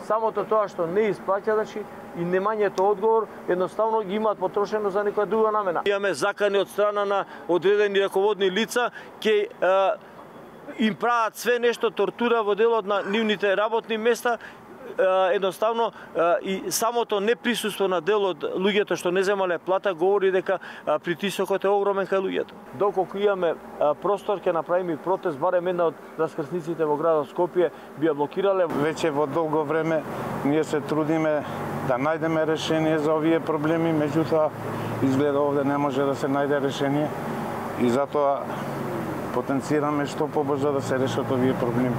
Самото тоа што не исплаќа, значи и немањето одговор едноставно ги имаат потрошено за некоја друга намена. Имаме закани од страна на одредени раководни лица ќе им прават све нешто тортура во делот на нивните работни места. Едноставно и самото неприсуство на дел од луѓето што не земале плата говори дека притисокот е огромен кај луѓето. Доколку имаме простор ќе направиме протест, барем една од раскрсниците во градот Скопје би ја блокирале. Веќе во долго време ние се трудиме да најдеме решение за овие проблеми, меѓутоа изгледа овде не може да се најде решение и затоа потенцираме што побрзо да се решат овие проблеми.